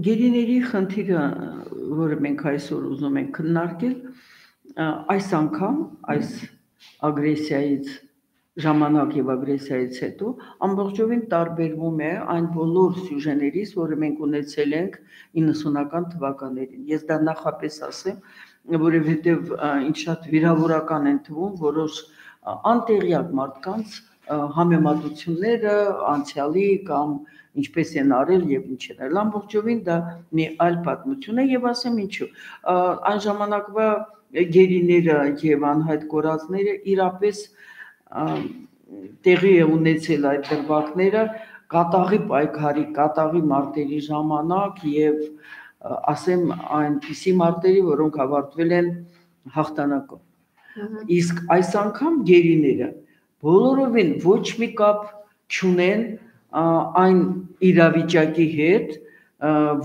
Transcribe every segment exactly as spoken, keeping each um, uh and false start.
Գերիների խնդիրը, որը մենք այսօր ուզում ենք քննարկել, այս անգամ, այս ագրեսիայից ժամանակ եւ ագրեսիայից հետո ամբողջովին տարբերվում է այն բոլոր սյուժեներից, որը մենք ունեցել ենք իննսունական թվականներին։ Ես դա նախապես ասեմ, որովհետեւ ինչ շատ վիրավորական են թվում որոշ անտեղյակ մարդկանց համեմատությունները անցյալի կամ ինչպես են արել եւ ինչ են արել, ամբողջովին դա մի այլ պատմություն է եւ ասեմ ինչու, այն ժամանակվա գերիները եւ անհայտ կորածները իրապես տեղի է ունեցել այդ դրվագները կատաղի պայքարի, կատաղի մարտերի ժամանակ եւ ասեմ այնպիսի մարտերի, որոնք ավարտվել են հաղթանակով։ Իսկ այս անգամ գերիները բոլորովին ոչ մի կապ չունեն այն իրավիճակի հետ,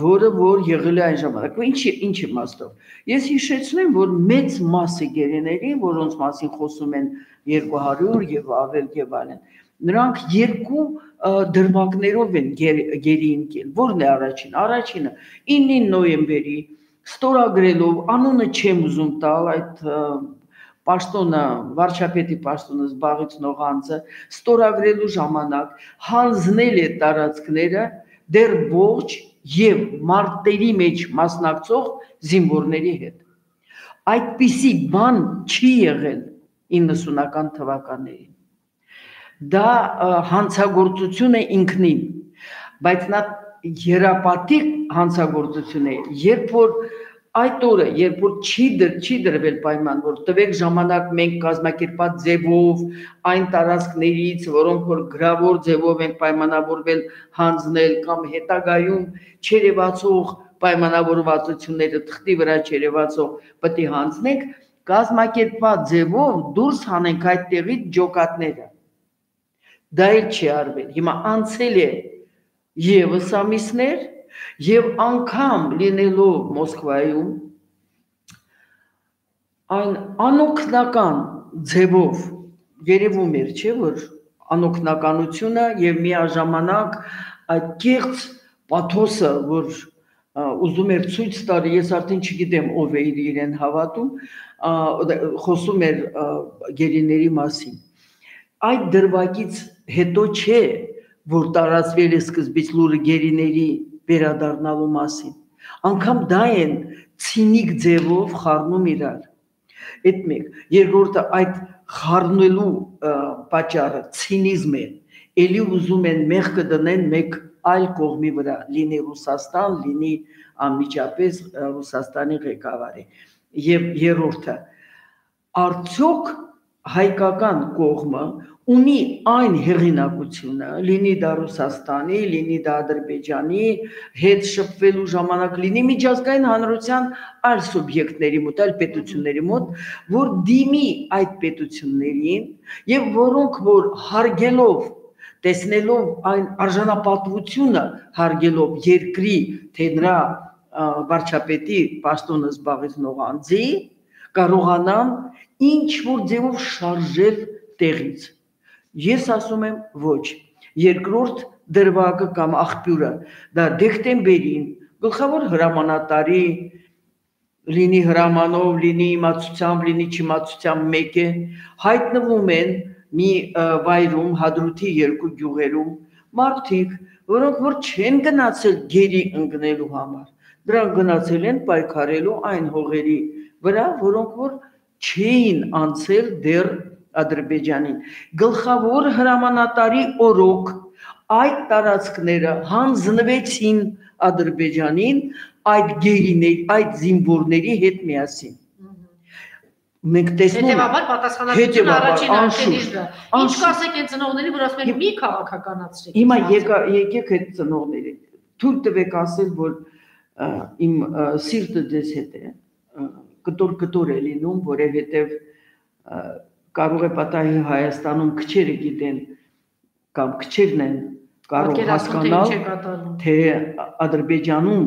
որը որ եղել է այն ժամանակ։ Ինչի ինչ իմաստով։ Ես հիշեցնեմ, որ մեծ մասը գերիների, որոնց մասին խոսում են երկու հարյուր եւ ավել եւ այլն, նրանք երկու դրվագներով են գերի ընկել։ Որն է առաջին։ Առաջինը ինը նոյեմբերի ստորագրելով, անունը չեմ ուզում տալ այդ պաշտոնը, վարչապետի պաշտոնը զբաղեցնող անձը ստորագրելու ժամանակ հանձնել է տարածքները դեռ ողջ եւ մարտերի մեջ մասնակցող զինվորների հետ։ Այդպիսի բան չի եղել իննսունական թվականներին։ Դա հանցագործություն է ինքնին, բայց նա երապատիկ հանցագործություն է, երբ որ այդ օրը, երբ որ չի դր, չի դրվել պայման, որ տվեք ժամանակ մենք կազմակերպած ձևով այն տարածքներից, որոնք որ գրավոր ձևով ենք պայմանավորվել հանձնել կամ հետագայում չերևացող պայմանավորվածությունները թղթի վրա չերևացող պետք է հանձնենք, կազմակերպված ձևով դուրս հանենք այդ տեղից ջոկատները։ Դա էլ չի արվել։ Հիմա անցել է եւս ամիսներ եւ անգամ լինելով Մոսկվայում այն անօգնական ձևով երևում էր, չէ՞ որ անօգնականությունը եւ միաժամանակ այդ կեղծ պաթոսը, որ ուզում էր ցույց տալ, ես արդեն չգիտեմ ով է իրեն հավատում, խոսում էր գերիների մասին։ Այդ դրվագից հետո չէ, որ տարածվել է սկզբից լուրը գերիների վերադառնալու մասին։ Անկամ դա են ցինիկ ձևով խառնում իրար։ Այդ մեկ, երկրորդը այդ խառնելու պատճառը ցինիզմ է։ Էլի ուզում են մեղքը դնեն մեկ այլ կողմի վրա, լինի Ռուսաստան, լինի անմիջապես Ռուսաստանի ղեկավարը։ Եվ երրորդը, արդյոք հայկական կողմը ունի այն հեղինակությունը, լինի դա Ռուսաստանի, լինի դա Ադրբեջանի հետ շփվելու ժամանակ, լինի միջազգային հանրության այլ սուբյեկտների մոտ, այլ պետությունների մոտ, որ դիմի այդ պետություններին եւ որոնք որ հարգելով, տեսնելով այն արժանապատվությունը հարգելով երկրի, թե նրա վարչապետի պաշտոնը զբաղեցնող անձի, կարողանան ինչ որ ձևով շարժել տեղից։ Ես ասում եմ ոչ, երկրորդ դրվագը կամ աղբյուրը, դա դեկտեմբերին գլխավոր հրամանատարի, լինի հրամանով, լինի իմացությամբ, լինի չիմացությամբ մեկ է, հայտնվում են մի վայրում, Հադրութի երկու գյուղերում, մարդիկ, որոնք որ չեն գնացել գերի ընկնելու համար, դրանք գնացել են պայքարելու այն հողերի վրա, որոնք որ չէին անցել դեռ Ադրբեջանին։ Գլխավոր հրամանատարի օրոք այդ տարածքները հանձնվեցին Ադրբեջանին այդ գերիների, այդ զինվորների հետ միասին։ Մենք տեսնում ենք հետևաբար պատասխանատվությունը առաջին անկելից դա։ Ինչ կասեք այն ծնողների, որ ասում են մի քաղաքականացրեք։ Հիմա եկեք այդ ծնողների, թույլ տվեք ասել, որ իմ սիրտը ձեզ հետ է, կտոր-կտոր է լինում, որովհետև կարող է պատահի Հայաստանում քչերը գիտեն կամ քչերն են կարող հասկանալ, թե Ադրբեջանում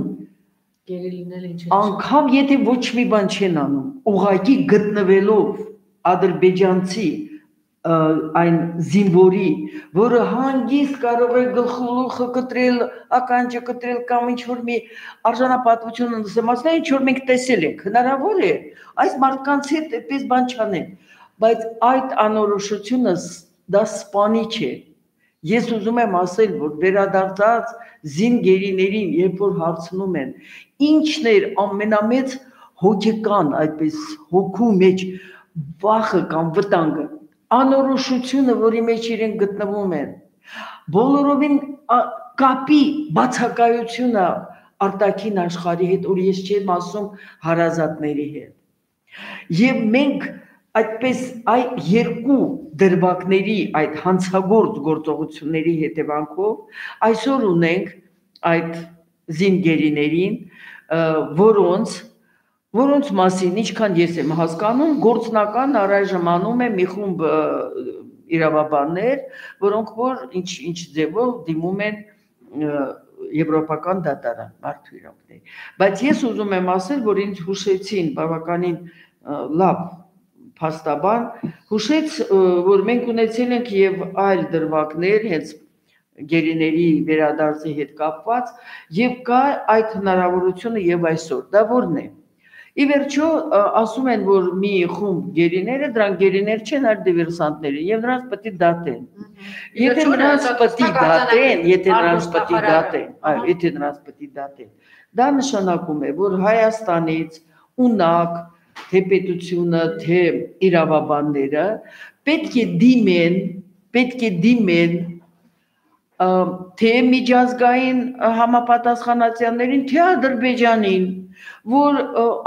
անգամ եթե ոչ մի բան չեն անում, ուղղակի գտնվելով ադրբեջանցի այն զինվորի, որը հանգիստ կարող է գլխուղը կտրել, ականջը կտրել կամ ինչ-որ մի արժանապատվություն ընդսեմացնել, ինչ-որ մենք տեսել ենք, հնարավոր է այս մարդկանց հետ այդպես բան չանել, բայց այդ անորոշությունը դա սպանիչ է։ Ես ուզում եմ ասել, որ վերադարձած զինգերիներին, երբ որ հարցնում են, ինչն էր ամենամեծ հոգեկան, այդպես հոգու մեջ վախը կամ վտանգը, անորոշությունը, որի մեջ իրենք գտնվում են, բոլորովին կապի բացակայությունը արտաքին աշխարհի հետ, որ ես չեմ ասում հարազատների հետ։ Եվ մենք այդպես այ երկու դրվագների այդ հանցագործ գործողությունների հետևանքով այսօր ունենք այդ զինգերիներին, որոնց որոնց մասին ինչքան ես եմ հասկանում, գործնական առայժմ անում է մի խումբ իրավաբաններ, որոնք որ ինչ ինչ ձևով դիմում են եվրոպական դատարան մարդու իրավունքների։ Բայց ես ուզում եմ ասել, որ ինձ հուշեցին բավականին լավ փաստաբան, հուշեց, որ մենք ունեցել ենք եւ այլ դրվագներ, հենց գերիների վերադարձի հետ կապված, եւ կա այդ հնարավորությունը եւ այսօր։ Դա որն է։ Ի վերջո ասում են, որ մի խումբ գերիները, դրանք գերիներ չեն, այլ դիվերսանտներ են, եւ նրանց պետք է դատեն։ Եթե նրանց պետք է դատեն, եթե նրանց պետք է դատեն, այո, եթե նրանց պետք է դատեն, դա նշանակում է, որ Հայաստանից ունակ, թե պետությունը, թե իրավաբանները պետք է դիմեն, պետք է դիմեն թե միջազգային համապատասխանատյաններին, թե Ադրբեջանին, որ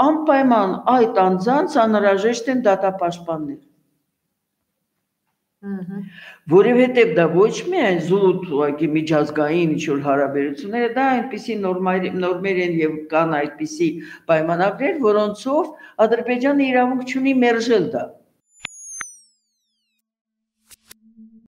անպայման այդ անձանց անհրաժեշտ են դատապաշտպաններ։ Որովհետև դա ոչ միայն զուտ ուղղակի միջազգային ինչ-որ հարաբերություններ, դա այնպիսի նորմեր են եւ կան այդպիսի պայմանագրեր, որոնցով Ադրբեջանը իրավունք չունի մերժել դա։